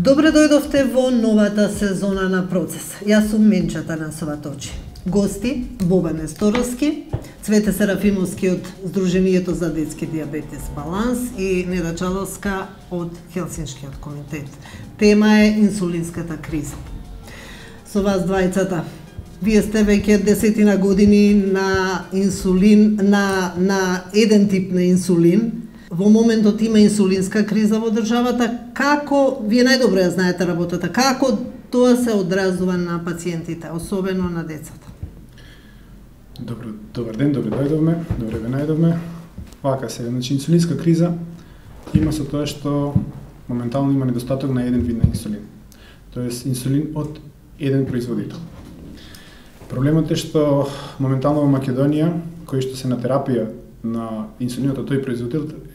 Добре дојдовте во новата сезона на Процес. Јас сум Менчата Насоваточи. Гости Бобан Несторовски, Цвете Серафимовски од Сдруженијето за детски дијабетес Баланс и Неда Чаловска од Хелсиншкиот комитет. Тема е инсулинската криза. Со вас двајцата, вие сте веќе десетина години на инсулин, на еден тип на инсулин. Во моментот има инсулинска криза во државата. Како, вие најдобро ја знаете работата, како тоа се одразува на пациентите, особено на децата? Добар ден, добре дојдовме, добре ве најдовме. Вака се, значи инсулинска криза има со тоа што моментално има недостаток на еден вид на инсулин. Тоест инсулин од еден производител. Проблемот е што моментално во Македонија, кои што се на терапија на инсулинот од тој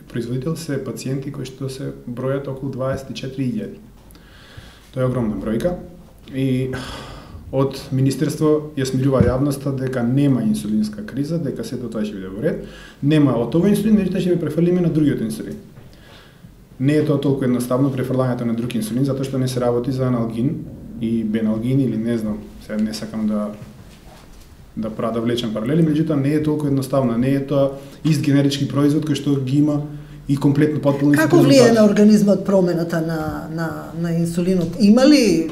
производител се пациенти кои што се бројат околу 24.000. Тоа е огромна бројка и од Министерство ја смирува јавноста дека нема инсулинска криза, дека сето тоа ќе биде во ред. Нема од овој инсулин, меѓутоа ќе префрлиме на другиот инсулин. Не е тоа толку едноставно префрлањето на друг инсулин, затоа што не се работи за аналгин и беналгин или не знам, сега не сакам да влечам паралели, меѓутоа не е толку едноставно, не е тоа ист генерички производ кој што ги има и комплетно потполно исти резултати. Како влие на организмот промената на инсулинот? Има ли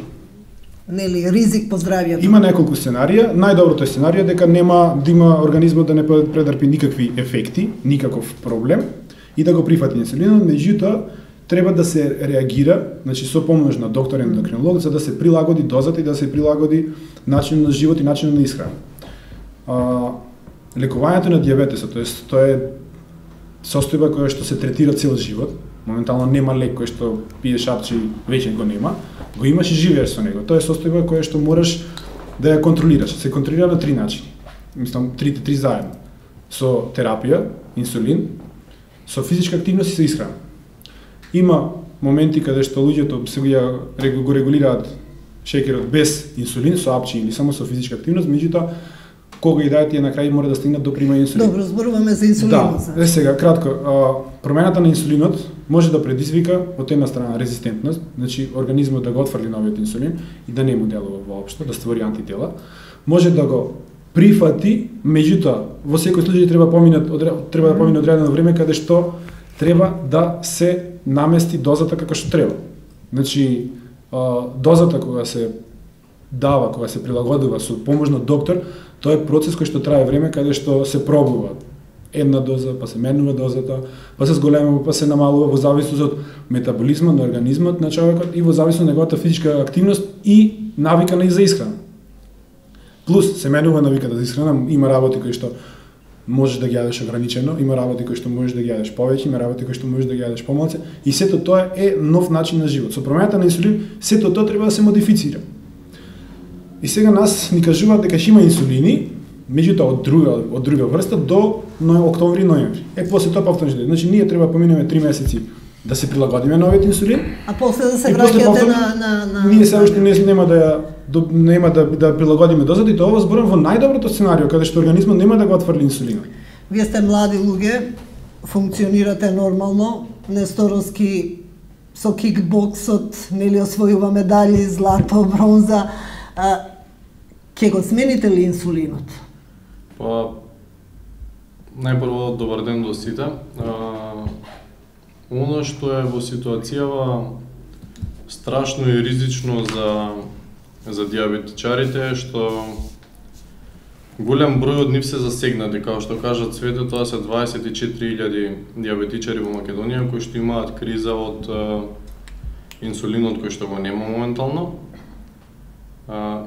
ризик по здравјето? Има неколку сценарија. Најдоброто е сценарија дека нема да има организмот да не претрпи никакви ефекти, никаков проблем и да го прифати инсулинот, меѓутоа треба да се реагира, значи со помош на доктор ендокринолог, за да се прилагоди дозата и да се прилагоди начинот на живот и начинот на исхрана. Лекувањето на дијабетесот, тоест тоа е состојба која што се третира цел живот. Моментално нема лек кој што пие шапче и веќе го нема, го имаш и живееш со него. Тоа е состојба која што можеш да ја контролираш. Се контролира на три начини. Мислам, три заедно. Со терапија, инсулин, со физичка активност и со исхрана. Има моменти каде што луѓето се го регулираат шеќерот без инсулин, со апчи или само со физичка активност, меѓутоа кога и да тие на крај мора да стигнат до прима инсулин. Добро, зборуваме за инсулинот. Да, сега кратко, промената на инсулинот може да предизвика од една страна резистентност, значи организмот да го отфрли новиот инсулин и да не му делува воопшто, да створи антитела. Може да го прифати, меѓутоа во секој случај треба да помине одредено време каде што треба да се намести дозата како што треба. Значи дозата кога се дава, кога се прилагодува со помош на доктор, тоа е процес кој што трае време каде што се пробува една доза, па се менува дозата, па се зголемува, па се намалува во зависност од метаболизмот на организмот на човекот и во зависност од неговата физичка активност и навика на исхрана. Плюс се менува навиката за исхрана, има работи кои што можеш да ги јадеш ограничено, има работи кои што можеш да ги јадеш повеќе, има работи кои што можеш да ги јадеш помалку, и сето тоа е нов начин на живот. Со промената на инсулин, сето тоа треба да се модифицира. И сега нас ни кажуваат дека ќе има инсулини, меѓутоа од друга врста до октомври-ноември. После тоа повторно, значи ние треба поминеме 3 месеци да се прилагодиме новиот инсулин, а после да се враќате на ние се уште нема да прилагодиме дозата и тоа зборам во најдоброто сценарио каде што организмот нема да го отфрли инсулинот. Вие сте млади луѓе, функционирате нормално, Несторовски со кикбоксот, нели освојува медали, злато, бронза. Ке го смените ли инсулинот? Па, најпрво добар ден до сите. Оно што е во ситуацијава страшно и ризично за дијабетичарите е што голем број од нив се засегнати, како што кажа Цвете, тоа се 24.000 дијабетичари во Македонија кои што имаат криза од инсулинот кој што го нема моментално,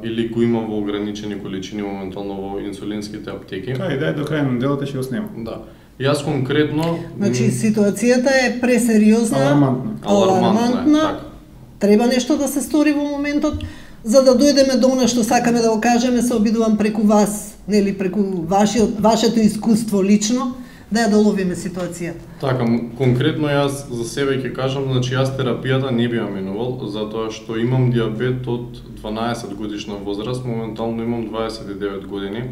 или го има во ограничени количини моментално во инсулинските аптеки. Кај да е до крај на делото ќе го снема. Да. Јас конкретно... Значи, ситуацијата е пресериозна, алармантна. Така. Треба нешто да се стори во моментот, за да дојдеме до она што сакаме да го кажеме, се обидувам преку вас, нели, преку вашето искуство лично, да ја доловиме ситуацијата. Така, конкретно јас за себе ќе кажам, значи јас терапијата не би ја минувал, затоа што имам дијабет од 12 годишна возраст, моментално имам 29 години.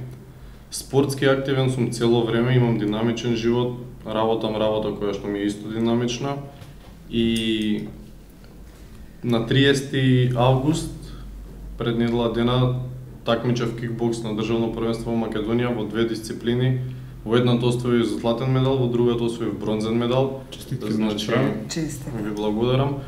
Спортски активен сум цело време, имам динамичен живот, работа која што ми е исто динамична и на 30 август пред недела дена такмичев кикбокс на државно првенство во Македонија во две дисциплини. Во едната освои златен медал, во другата освои бронзен медал. Честитки. Значи, Честитки. ви благодарам.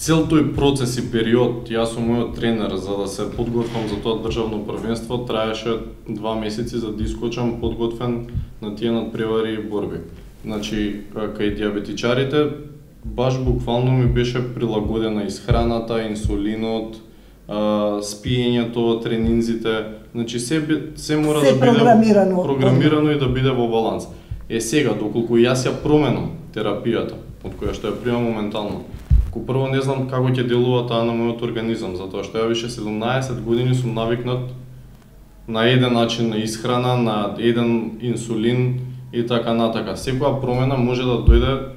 Цел тој процес и период, јас сум мојот тренер за да се подготвам за тоа државно првенство, траеше 2 месеци за да искочам подготвен на тие надпревари и борби. Значи, кај диабетичарите, баш буквално ми беше прилагодена исхраната, инсулинот, спиењето, тренинзите, значи се мора да биде програмирано и да биде во баланс. Сега, доколку јас ја променам терапијата, од која што ја примам моментално, прво не знам како ќе делува таа на мојот организам, затоа што ја више 17 години сум навикнат на еден начин на исхрана, на еден инсулин и така натака. Секоја промена може да дојде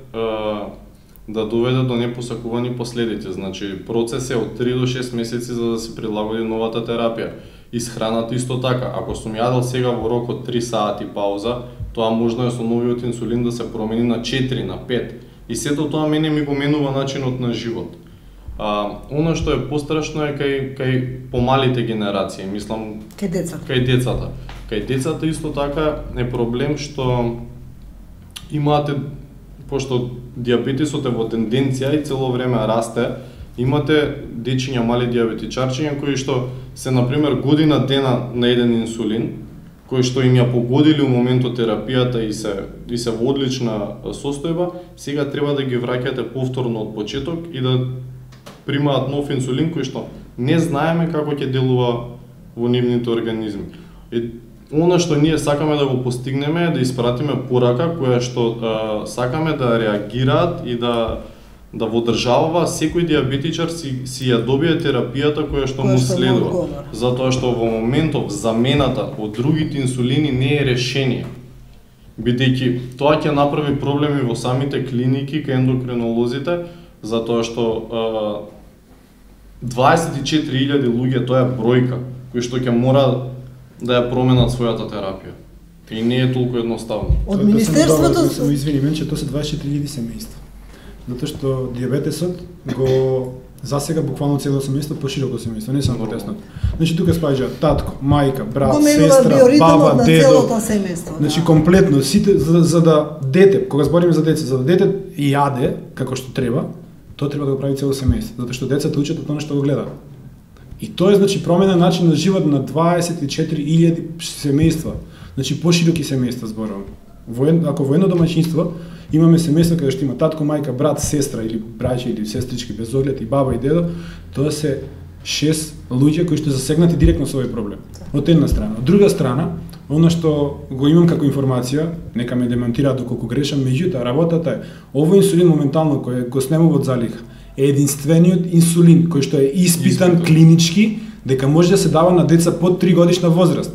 да доведе до непосакувани последици. Значи, процес е од 3 до 6 месеци за да се прилагоди новата терапија. Исхраната исто така. Ако сум јадел сега во рок од 3 сати пауза, тоа можно е со новиот инсулин да се промени на 4, на 5. И сето тоа мене ми го менува начинот на живот. Оно што е пострашно е кај помалите генерации, мислам кај децата. Кај децата исто така е проблем што имате, пошто диабетесот е во тенденција и цело време расте, имате дечиња мали диабетичарчиња кои што се на пример година дена на еден инсулин, кои што им ја погодили у моментот терапијата и се во одлична состојба, сега треба да ги враќате повторно од почеток и да примаат нов инсулин кој што не знаеме како ќе делува во нивните организми. Она што ние сакаме да го постигнеме е да испратиме порака која што сакаме да реагираат и да во држава секој диабетичар си ја добие терапијата која што му следува. Затоа што во моментов замената од другите инсулини не е решение. Бидејќи тоа ќе направи проблеми во самите клиники кај ендокринолозите, затоа што 24.000 луѓе тоа е бројка кои што ќе мора да ја променат својата терапија. И не е толку едноставно. Од министерството се извини мен че тоа се 24.000 семејства. Затоа што диабетесот го засега буквално цело семејство, пошироко семејство, не само тесно. Значи тука спаѓа татко, мајка, брат, сестра, баба, дедо. Значи комплетно сите за да дете, кога збориме за деца, за да дете јаде како што треба, тоа треба да го прави цело семејство, затоа што децата учат од тоа што го гледаат. И тоа е значи промена начин на живот на 24.000 семејства. Значи пошироки семејства зборувам. Ако во едно домаќинство имаме семејство каде што има татко, мајка, брат, сестра или браќа или сестрички без оглед и баба и дедо, тоа се 6 луѓе кои што засегнати директно со овој проблем. Од една страна. Од друга страна, она што го имам како информација, нека ме демонтираат доколку грешам, меѓутоа работата е овој инсулин моментално кој го снемува од залиха е единствениот инсулин кој што е испитан клинички дека може да се дава на деца под 3 годишна возраст.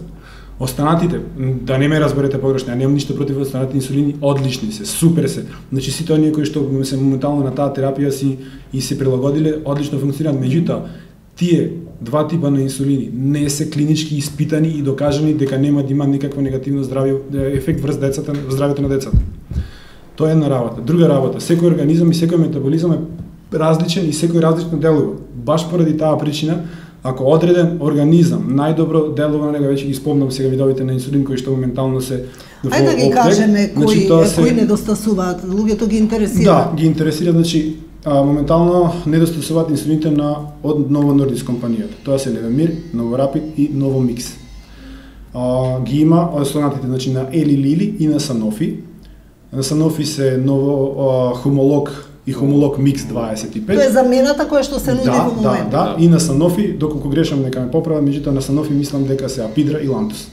Останатите, да не ме разберете погрешно, ја немам ништо против останатите инсулини, одлични се, супер се. Значи сите оние кои што се моментално на таа терапија и се прилагодиле, одлично функционираат. Меѓутоа, тие два типа на инсулини не се клинички испитани и докажани дека нема да има никакво негативно ефект врз децата, здравјето на децата. Тоа е една работа. Друга работа, секој организам и секој метаболизам е различен и секој различно делува. Баш поради таа причина, ако одреден организам најдобро делува на него, веќе ги спомнам сега видовите на инсулин кои што моментално се во Ајде да ги кажеме кои недостасуваат, луѓето ги интересира. Да, ги интересира, значи моментално недостасуваат инсулините од Novo Nordisk компанијата. Тоа се Levemir, Novorapid и Novomix. Ги има останатите, значи на Eli Lilly и на Sanofi. На Sanofi се ново хомолог и хомолог Mix 25. Тоа е замената која што се нуди во моментот. Да, и на Sanofi, доколку грешам нека ме поправат, меѓутоа на Sanofi мислам дека се Apidra и Lantus.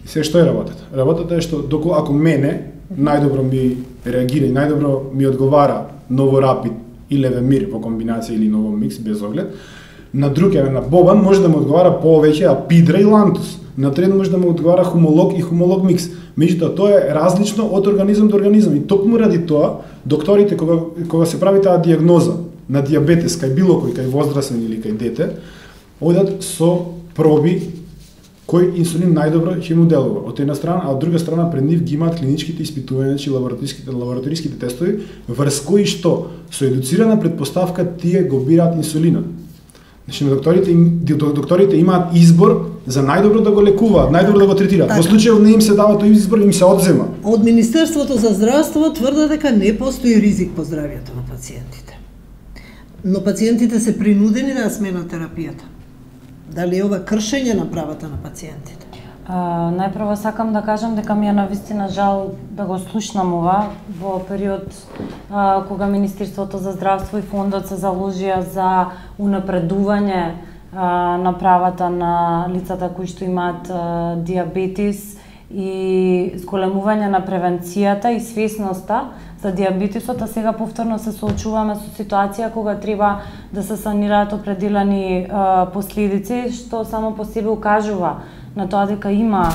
Се што е работата? Работата е што ако мене најдобро ми реагира и најдобро ми одговара Novorapid и Levemir во комбинација или Novomix без оглед, на друг на Бобан може да му одговара повеќе Apidra и Lantus. На трет може да му одговара хомолог и хомолог микс. Меѓутоа тоа е различно од организам до организам и токму ради тоа докторите кога се прави таа дијагноза на дијабетес кај било кој, кај возрастен или кај дете, одат со проби кој инсулин најдобро ќе му делува. Од една страна, а од друга страна пред нив ги имаат клиничките испитувања, значи лабораториските тестови, врз кои што со едуцирана предпоставка тие го бираат инсулинот. Значи докторите имаат избор за најдобро да го лекуваат, најдобро да го третираат. Во случајот не им се дава тој избор, им се одзема. Од Министерството за здравство тврде дека не постои ризик по здравјето на пациентите. Но пациентите се принудени да сменат терапијата. Дали е ова кршење на правата на пациентите? Најпрво сакам да кажам дека ми е навистина жал да го слушнам ова во период кога Министерството за здравство и фондот се заложија за унапредување на правата на лицата кои што имаат диабетис и зголемување на превенцијата и свесноста за диабетисот, а сега повторно се соочуваме со ситуација кога треба да се санираат определени последици, што само по себе укажува на тоа дека има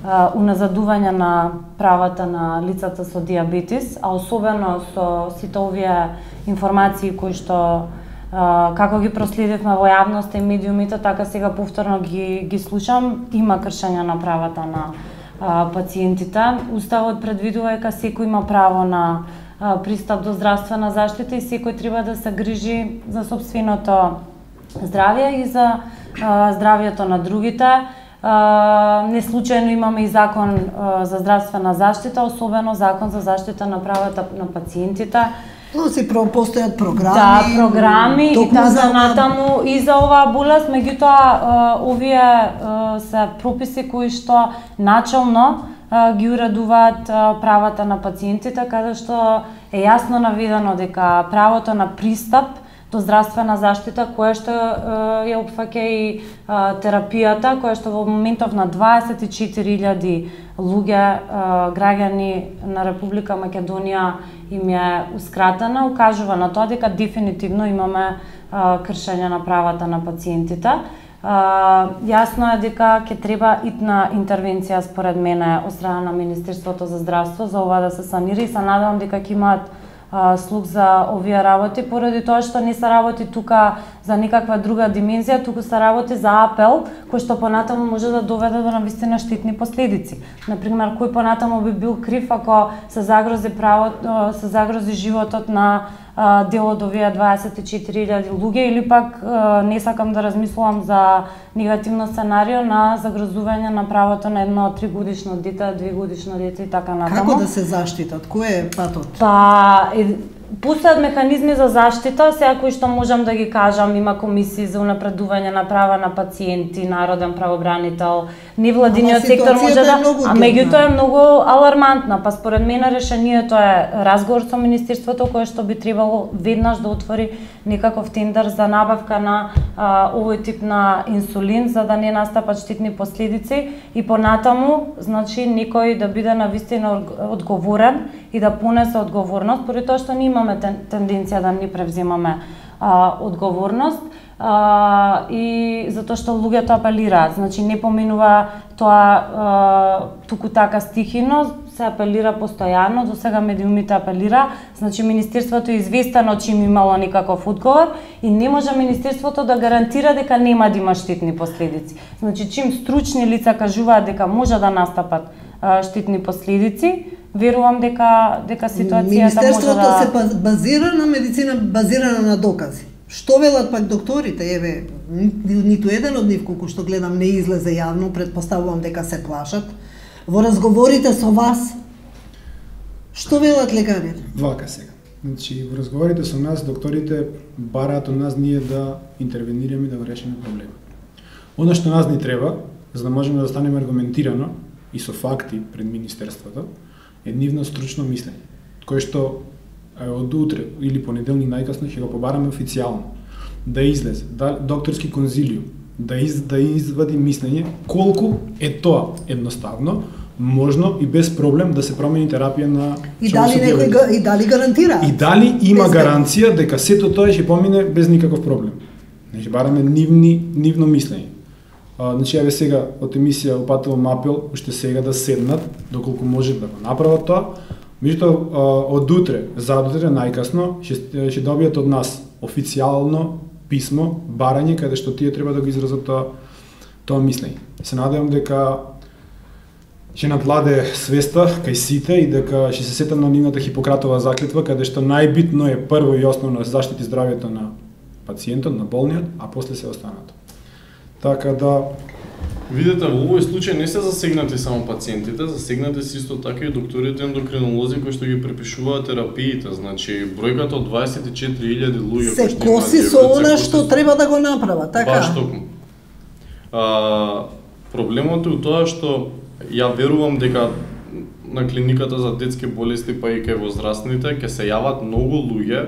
уназадување на правата на лицата со диабетис, а особено со сите овие информации кои што како ги проследивме во јавноста и медиумите, така сега повторно ги слушам, има кршење на правата на пациентите. Уставот предвидува дека секој има право на пристап до здравствена заштита и секој треба да се грижи за сопственото здравје и за здравјето на другите. Не случајно имаме и закон за здравствена заштита, особено закон за заштита на правата на пациентите. Но си постојат програми. Да, програми и така натаму и за оваа болест, меѓутоа овие се прописи кои што начално ги уредуваат правата на пациентите, каде што е јасно наведено дека правото на пристап до здравствена заштита, која што ја опфаќа и терапијата, која што во моментов на 24.000 луѓе, граѓани на Република Македонија им еускратена, укажува на тоа дека дефинитивно имаме кршење на правата на пациентите. Јасно е дека ќе треба итна интервенција според мене од страна на Министерството за здравство за ова да се санира и се надевам дека ќе имаат слух за овие работи, поради тоа што не се работи тука за никаква друга димензија, туку се работи за апел, кој што понатаму може да доведе до навистина штетни последици. Например, кој понатаму би бил крив ако се загрози животот на дел од овие 24.000 луѓе, или пак не сакам да размислувам за негативно сценарио на загрозување на правото на едно 3-годишно дете, 2-годишно дете и така натаму. Како да се заштитат? Кој е патот? Постојат механизми за заштита, сега кои што можам да ги кажам, има комисии за унапредување на права на пациенти, народен правобранител, невладиниот сектор може да, а меѓутоа е многу алармантна, па според мене решението е разговор со Министерството кое што би требало веднаш да отвори некаков тендер за набавка на овој тип на инсулин за да не настапат штетни последици и понатаму, значи некој да биде навистина одговорен и да понесе одговорност, поради тоа што ние имаме тенденција да не превземаме одговорност и затоа што луѓето апелираат, значи не поминува тоа туку така стихино, се апелира постојано, до сега медиумите апелира, значи Министерството е известено чим имало никаков одговор и не може Министерството да гарантира дека нема да има штетни последици. Значи чим стручни лица кажуваат дека може да настапат штетни последици, верувам дека ситуацијата може да... Министерството се базира на медицина базирана на докази. Што велат пак докторите? Еве, ниту еден од нив, колку што гледам, не излезе јавно, предпоставувам дека се плашат. Во разговорите со вас, што велат лекарите? Вака сега. Значи, во разговорите со нас, докторите бараат од нас ние да интервенираме и да го решиме проблемот. Оно што нас ни треба, за да можеме да станеме аргументирано и со факти пред Министерството, е нивно стручно мислење, кое што од утре или понеделник најкасно ќе го побараме официјално да излезе докторски конзилиум, да извади мислење колку е тоа едноставно, можно и без проблем да се промени терапија на и дали гарантира? И дали има гаранција дека сето тоа ќе помине без никаков проблем. Значи бараме нивно мислење. Значи еве сега од емисија упатувам апел уште сега да седнат доколку може да го направат тоа. Меѓутоа од утре, задутре најкасно ќе добијат од нас официјално писмо, барање каде што тие треба да го изразат тоа Тоа мислење. Се надевам дека ќе надвладе свеста кај сите и дека ќе се сетам на нивната Хипократова заклетва, каде што најбитно е прво и основно заштити здравјето на пациентот, на болниот, а после се останато. Така да видете, во овој случај не се засегнати само пациентите, засегнати се исто така и докторите ендокринолози кои што ги препишуваат терапиите. Значи, бројката од 24.000 луѓе се коси со она што треба да го направат, така? Баш токму. Проблемот е у тоа што ја верувам дека на клиниката за детски болести па и кај возрастните ќе се јават многу луѓе,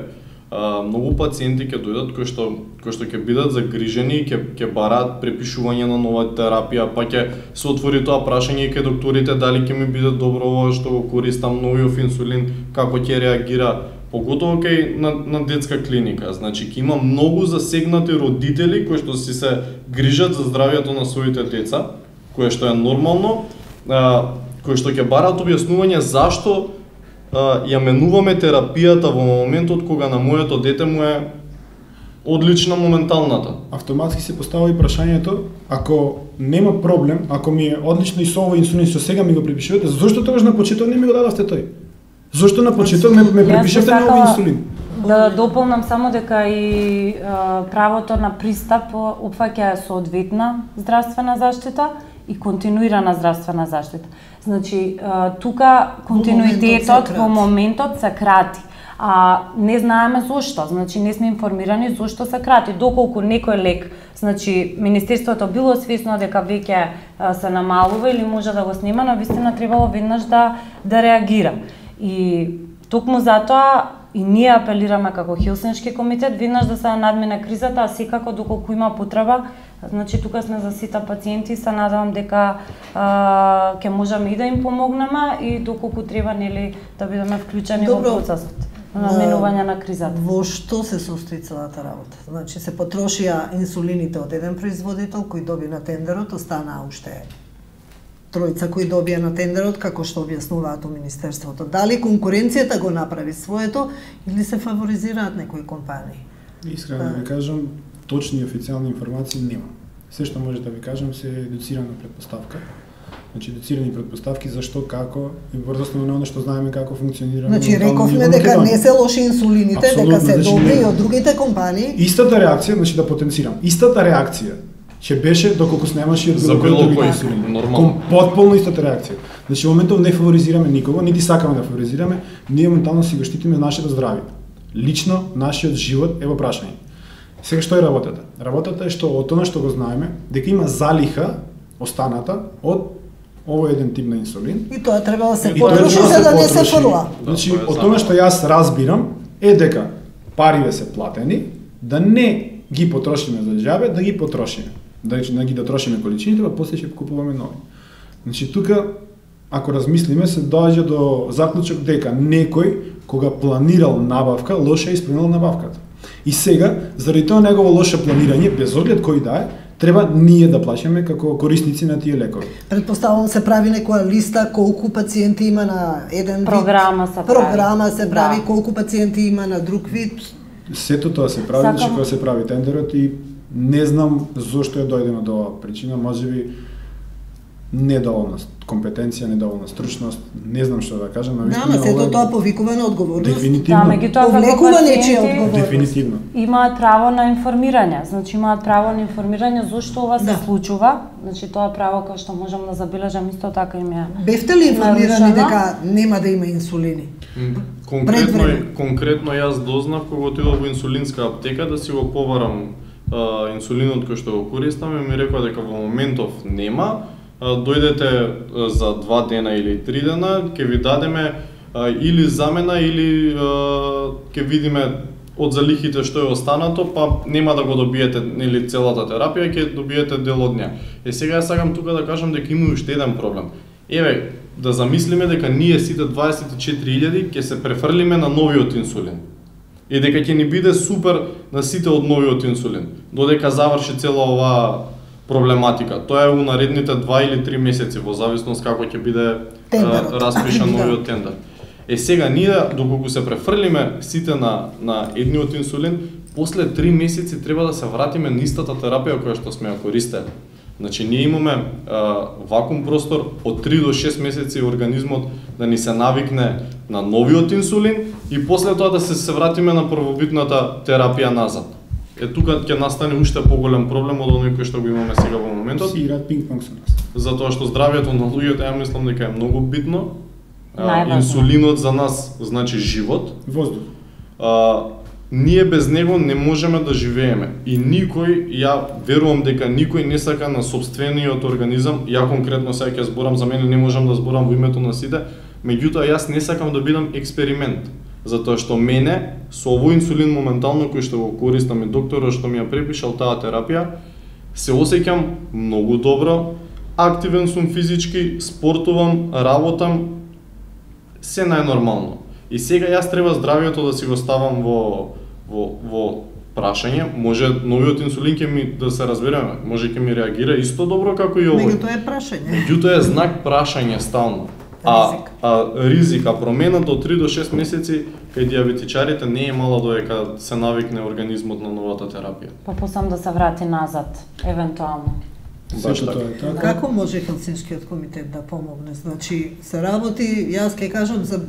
многу пациенти ќе дојдат кои што ќе бидат загрижени и ќе бараат препишување на нова терапија, па ќе се отвори тоа прашање и кај докторите дали ќе ми биде добро ова што го користам новиот инсулин, како ќе реагира, поготово кај на детска клиника. Значи ќе има многу засегнати родители кои што си се грижат за здравјето на своите деца, кое што е нормално, кои што ќе бараат објаснување зашто ја менуваме терапијата во моментот кога на моето дете му е одлична моменталната. Автоматски се поставува и прашањето, ако нема проблем, ако ми е одлично и со овој инсулин што сега ми го препишувате, зошто тогаш на почеток не ми го дадовте тој? Зошто на почеток ме препишавте на овој инсулин? Да дополнам само дека и правото на пристап опфаќа соодветна здравствена заштита и континуирана здравствена заштита. Значи, тука континуитетот во моментот се крати. Не знаеме зошто, значи не сме информирани зошто се крати. Доколку некој лек, значи Министерството било свесно дека веќе се намалува или може да го снима, но вистина требало веднаш да реагира. И токму затоа и ние апелираме како Хелсиншки комитет веднаш да се надмине кризата, а секако доколку има потреба, значи тука сме за сите пациенти, се надевам дека ќе можеме и да им помогнеме и доколку треба нели да бидеме вклучени во процесот на наменување на кризата. Во што се состои целата работа? Значи се потрошија инсулините од еден производител кој доби на тендерот, останаа уште тројца кои добија на тендерот, како што објаснуваат у Министерството. Дали конкуренцијата го направи своето или се фаворизираат некои компании? Искрено да ви кажам, точни и официјални информации нема. Се што може да ви кажам се едуцирана предпоставка. Значи едуцирани предпоставки зашто, како и врз основа на оно што знаеме како функционира. Значи рековме дека не се лоши инсулините, дека се добри и од другите компании. Истата реакција, значи да потенцирам, истата реакција ќе беше доколку снемаше од било кој инсулин. Потполно истата реакција. Значи во моментов не фаворизираме никого, нити сакаме да фаворизираме, ние моментално си го штитиме нашето здравје. Лично нашиот живот е во прашање. Сега што е работата? Работата е што од тоа што го знаеме, дека има залиха останата од овој еден тип на инсулин. И тоа треба да се потроши за да не се фрла. Значи од тоа што јас разбирам е дека парите се платени, да не ги потрошиме за џабе, да ги потрошиме. Да ги трошиме количините, па после ќе купуваме нови. Значи тука ако размислиме се доаѓа до заклучок дека некој кога планирал набавка, лоше исполнил набавката. И сега, заради тоа негово лоше планирање, без оглед кој да е, треба ние да плаќаме како корисници на тие лекови. Предпоставувам се прави некоја листа колку пациенти има на еден програма вид. Програма се прави, колку пациенти има на друг вид. Сето тоа се прави, значи кога се прави тендерот и не знам зошто е дојдено до оваа причина, можеби недоволна компетенција, недоволна стручност, не знам што да кажам, но вистина сето тоа повикува на одговорност. Дефинитивно. Да, меѓутоа како пациенти дефинитивно имаат право на информирање, значи имаат право на информирање зошто ова се случува, значи тоа право кое што можам да забележам исто така им е. Бевте ли информирани дека нема да има инсулини? Конкретно јас дознав кога отидов во инсулинска аптека да си го побарам инсулинот кој што го користам и ми рекоа дека во моментов нема, дојдете за 2 дена или 3 дена, ќе ви дадеме или замена или ќе видиме од залихите што е останато, па нема да го добиете нели целата терапија, ќе добиете дел од неа. Сега ја сакам тука да кажам дека има уште еден проблем. Еве, да замислиме дека ние сите 24.000 ќе се префрлиме на новиот инсулин. И дека ќе ни биде супер на сите од новиот инсулин, додека заврши цела оваа проблематика. Тоа е у наредните 2 или 3 месеци, во зависност како ќе биде распишан новиот тендер. Сега ние доколку се префрлиме сите на едниот инсулин, после 3 месеци треба да се вратиме на истата терапија која што сме ја користеле. Значи ние имаме вакуум простор од 3 до 6 месеци организмот да ни се навикне на новиот инсулин и после тоа да се вратиме на првобитната терапија назад. Тука ќе настане уште поголем проблем од оној кој што го имаме сега во моментот. Си играат пинг-понг со нас. Затоа што здравјето на луѓето, ја мислам дека е многу битно. Инсулинот за нас значи живот. Воздух. Ние без него не можеме да живееме. И никој, ја верувам дека никој не сака на сопствениот организам, ја конкретно сега ќе зборам за мене, не можам да зборам во името на сите, меѓутоа јас не сакам да бидам експеримент. Затоа што мене, со овој инсулин моментално кој што го користам и докторот што ми ја препишал таа терапија, се осеќам многу добро, активен сум физички, спортувам, работам, се најнормално. И сега јас треба здравјето да си го ставам во прашање, може новиот инсулин ќе ми, да се разбереме, може ќе ми реагира исто добро како и овој. Меѓутоа е прашање. Меѓутоа е знак прашање стално. Ризик, промената од 3 до 6 месеци кај диабетичарите не е мала додека се навикне организмот на новата терапија. Па посам да се врати назад, евентуално. Баш Тоа е така. Како може Хелсинскиот комитет да помогне? Значи, се работи, јас ќе кажам за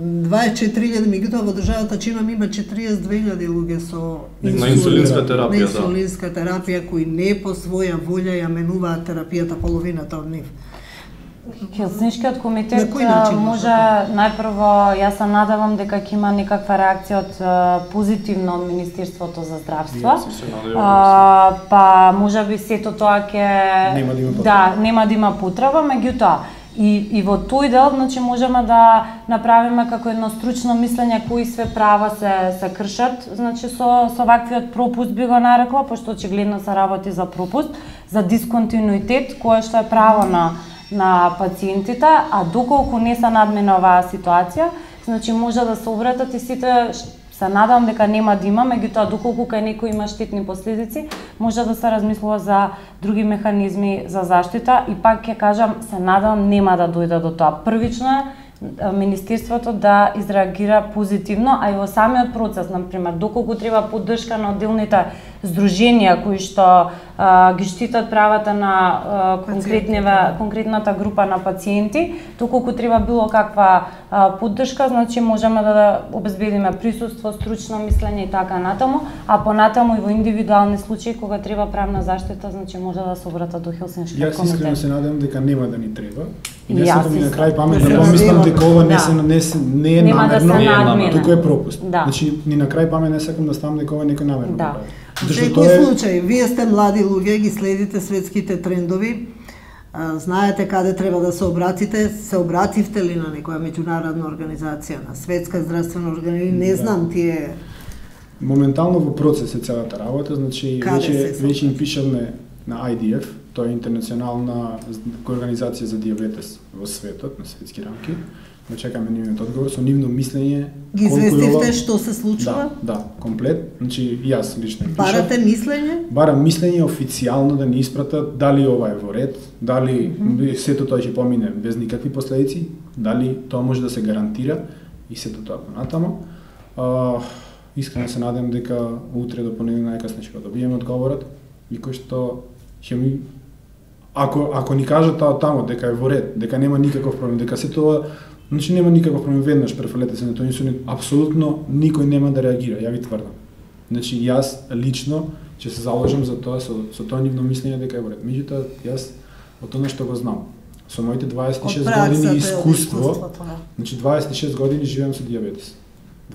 24.000, меѓутоа во државата Чина има 42.000 луѓе со на инсулинска терапија, на инсулинска терапија кои не по своја волја ја менуваат терапијата, половината од нив. Хелсинскиот комитет може може најпрво, јас се надевам дека ќе има некаква реакција од позитивно од Министерството за здравство. Па можеби сето тоа ќе нема да има потреба, меѓутоа и во тој дел, значи можеме да направиме како едно стручно мислење кои све права се кршат, значи со ваквиот пропуст би го нарекла, пошто очигледно се работи за пропуст, за дисконтинуитет, кое што е право на пациентите, а доколку не се надмине оваа ситуација, значи може да се обратат и сите, се надам дека нема да има, меѓутоа доколку кај некој има штетни последици, може да се размислува за други механизми за заштита и пак ќе кажам, се надам нема да дојде до тоа. Првично е Министерството да изреагира позитивно, а и во самиот процес, например, доколку треба поддршка на отделните здруженија кои што ги штитат правата на конкретната група на пациенти, доколку треба било каква поддршка, значи можеме да обезбедиме присуство, стручно мислење и така натаму, а понатаму и во индивидуални случаи кога треба правна заштита, значи може да се обратат до Хелсинскиот комитет. Јас искрено се надевам дека нема да ни треба. И не сакам и на крај памет да помислам дека ова не е намерно, туку е пропуст. Значи ни на крај памет не сакам да ставам дека ова некој намерно да прави. Во секој случај, вие сте млади луѓе, ги следите светските трендови, знаете каде треба да се обратите, се обративте ли на некоја меѓународна организација, на светска здравствена организација, не знам тие... Моментално во процес е целата работа, значи веќе им пишаме на IDF, тоа е интернационална организација за диабетес во светот, на светски рамки. Го чекаме нивниот одговор со нивно мислење. Ги известивте што се случува? Да, комплет. Значи јас лично пишам. Барате мислење? Барам мислење официјално да ни испратат дали ова е во ред, дали сето тоа ќе помине без никакви последици, дали тоа може да се гарантира и сето тоа понатамо. Искрено се надевам дека утре до понеделник најкасно ќе го добиеме одговорот и кој што ќе ми ако ни кажат таму дека е во ред, дека нема никаков проблем, дека се тоа, значи нема никаков проблем, веднаш префалете се на тој инсулин, апсолутно никој нема да реагира, ја ви тврдам. Значи јас лично ќе се заложам за тоа со тоа нивно мислење дека е во ред. Меѓутоа јас од тоа што го знам, со моите 26 години искуство, значи 26 години живеам со диабетес.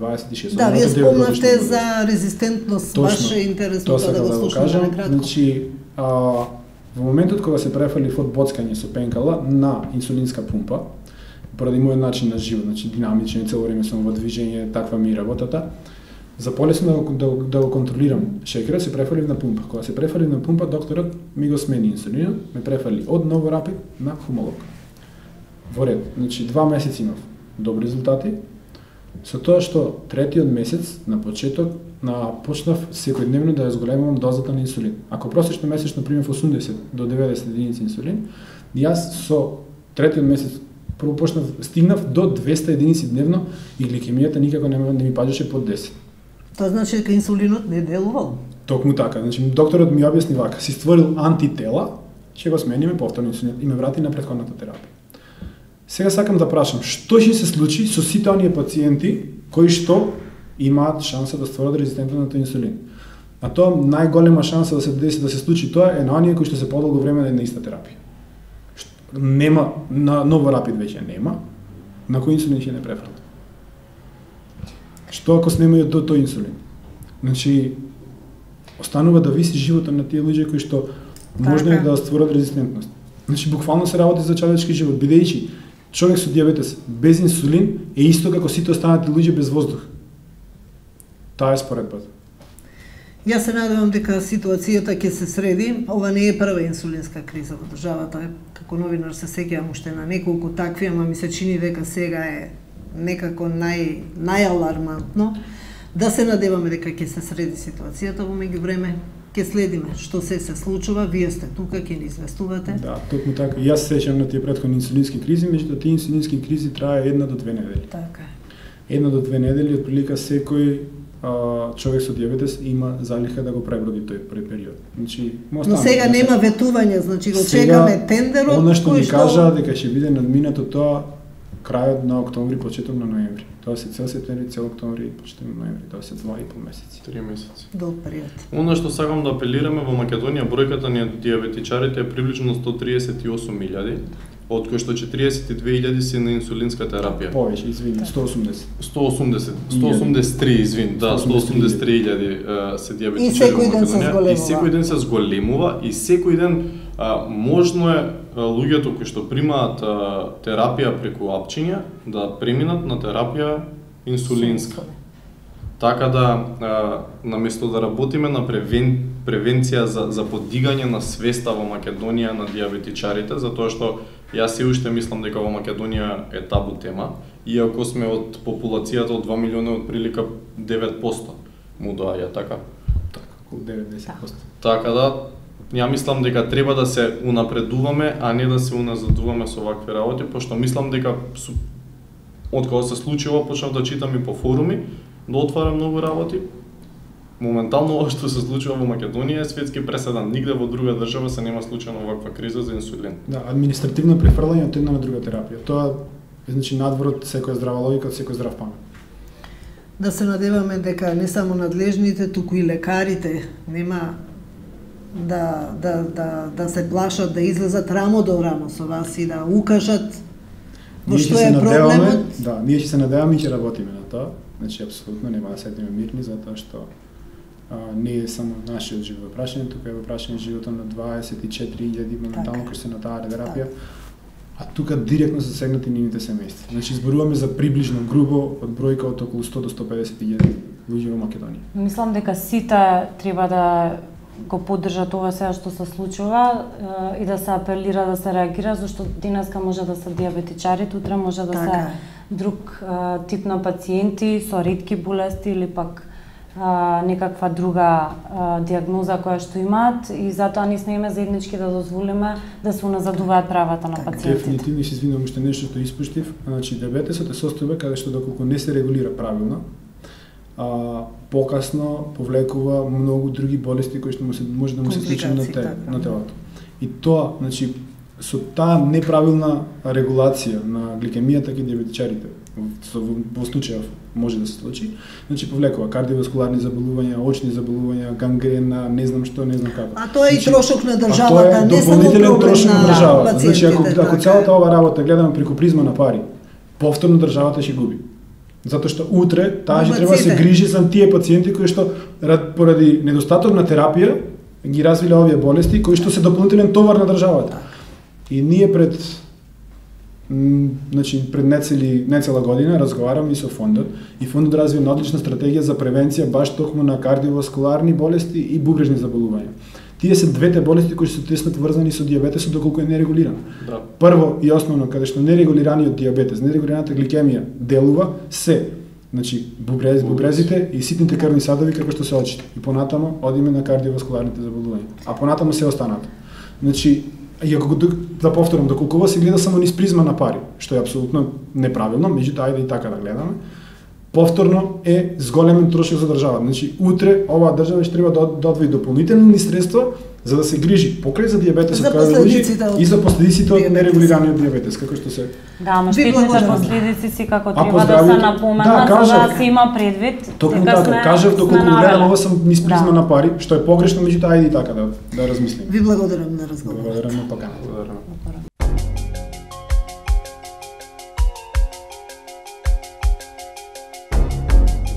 26. Да, вие спомнавте за резистентност, баш е интересно да го слушаме на кратко. Значи, во моментот кога се префалив од боцкање со пенкала на инсулинска пумпа, поради мојот начин на живот, значи динамичен, цело време сум во движење, таква ми работата, за полесно да го контролирам шекерот, се префалив на пумпа. Кога се префалив на пумпа, докторот ми го смени инсулинот, ме префали од Новорапид на Хумолог. Во ред, значи 2 месеци имав добри резултати, со тоа што третиот месец на почеток почнав секојдневно да ја зголемувам дозата на инсулин. Ако просечно месечно примев 80 до 90 единици инсулин, јас со третиот месец прво стигнав до 200 единици дневно и гликемијата никако не ми паѓаше под 10. Тоа значи дека инсулинот не делувал? Токму така, значи докторот ми објасни вака, си створил антитела ќе го смениме повторно инсулинот и ме врати на претходната терапија. Сега сакам да прашам, што ќе се случи со сите оние пациенти кои што имаат шанса да стварат резистентност на инсулин? А тоа најголема шанса да се деси да се случи тоа е на оние кои што се подолго време на иста терапија. Нема на Новорапид веќе нема, на кој инсулин ќе не префрлат. Што ако снемају тој инсулин? Значи останува да виси животот на тие луѓе кои што можно е да стварат резистентност. Значи буквално се работи за човечки живот, бидејќи човек со дијабетес без инсулин е исто како сите останати луѓе без воздух. Таа е споредбата. Јас се надевам дека ситуацијата ќе се среди. Ова не е прва инсулинска криза во државата. Како новинар се сеќавам уште на неколку такви, ама ми се чини дека сега е некако најалармантно. Да се надеваме дека ќе се среди ситуацијата во меѓувреме. Ќе следиме што се случува, вие сте тука, ќе ни известувате. Да, токму така. Јас се сеќавам на тие претходни инсулински кризи, меѓутоа тие инсулински кризи трае 1 до 2 недели. Така е. 1 до 2 недели, отприлика секој човек со дијабетес има залиха да го преброди тој први период. Значи, но сега нема ветување, значи го чекаме тендерот. Она што ни кажа дека ќе биде надминато тоа крајот на октомври, почеток на ноември. Тоа се цел септември, цел октомври, почеток на ноември, тоа се 2,5 месеци. 3 месеци. Долг период. Оно што сакам да апелираме во Македонија, бројката на дијабетичарите е приближно 138.000, од кои што 42.000 се на инсулинска терапија. Повеќе, извини, 183, извин, да, 183.000 се дијабетичари во Македонија. И секој ден се зголемува и секој ден можно е луѓето кои што примаат терапија преку апчиња да преминат на терапија инсулинска. Така да наместо да работиме на превенција за подигање на свеста во Македонија на дијабетичарите, затоа што јас се уште мислам дека во Македонија е табу тема, иако сме од популацијата од 2 милиони отприлика 9% му доаѓа, така? Така, околу 9-10%. Така да, ја мислам дека треба да се унапредуваме, а не да се уназадуваме со вакви работи, пошто мислам дека од кога се случило почнав да читам и по форуми, да отварам многу работи. Моментално ова што се случува во Македонија е светски преседан. Нигде во друга држава се нема случајно ваква криза за инсулин. Да, административно префрлање од една на друга терапија. Тоа значи надвор од секоја здрава логика, од секој здрав памет. Да се надеваме дека не само надлежните, туку и лекарите нема да се плашат да излезат рамо до рамо со вас и да укажат во што е проблемот. Да, ние ќе се надеваме и ќе работиме на тоа. Значи апсолутно нема да седиме мирни затоа што не е само нашиот живот прашање, тука е во прашање животот на 24.000 моментално кои се на таа терапија. А тука директно се засегнати нивните семејства. Значи зборуваме за приближно грубо од бројка од околу 100 до 150.000 луѓе во Македонија. Мислам дека сите треба да го поддржат ова сега што се случува и да се апелира да се реагира, зашто денеска може да се дијабетичарите, утре може да се друг тип на пациенти со ретки болести или пак некаква друга дијагноза која што имаат и затоа ние сме заеднички да дозволиме да се уназадуваат правата на пациентите. Дефинитивно се извинувам уште нешто што испуштив, значи дијабетесот е состојба каде што доколку не се регулира правилно, покасно повлекува многу други болести кои што може да му се случи на телото. И тоа, значи, со таа неправилна регулација на гликемијата кај дијабетичарите, во случајов може да се случи, значи повлекува кардиоваскуларни заболувања, очни заболувања, гангрена, не знам што, не знам како. А тоа е и трошок на државата, не само проблем на државата. Значи ако целата ова работа гледаме преку призма на пари, повторно државата ќе губи. Затоа што утре таа ќе треба да се грижи за тие пациенти кои што поради недостаток на терапија ги развиле овие болести кои што се дополнителен товар на државата. И ние пред нецела година разговараме и со фондот и фондот разви една одлична стратегија за превенција баш токму на кардиоваскуларни болести и бубрежни заболувања. Тие се двете болести кои се тесно поврзани со дијабетесот доколку е нерегулиран. Да. Прво и основно каде што нерегулираниот дијабетес, нерегулираната гликемија делува се, значи бубрезите и ситните крвни садови како што се очите. И понатамо одиме на кардиоваскуларните заболувања. А понатамо се останато. Значи иако да повторам, доколку ова се гледа само низ призма на пари, што е апсолутно неправилно, меѓутоа ајде и така да гледаме, повторно е зголемен трошок за државата. Значи утре оваа држава ќе треба да одвои дополнителни средства за да се грижи покрај за дијабетесот За кај луѓе последиците и за последиците од дијабетес. нерегулираниот дијабетес, како што се Да, ама Ви штетните благодарам. последици си како Ако треба да се здравјето- напоменат, да, за да кажав. се има предвид. токму дека така, кажав сме доколку навеле. гледам ова сум низ призма Да. на пари, што е погрешно, меѓутоа ајде и така да размислим. Ви благодарам на разговорот. Благодарам на поканата. Благодарам.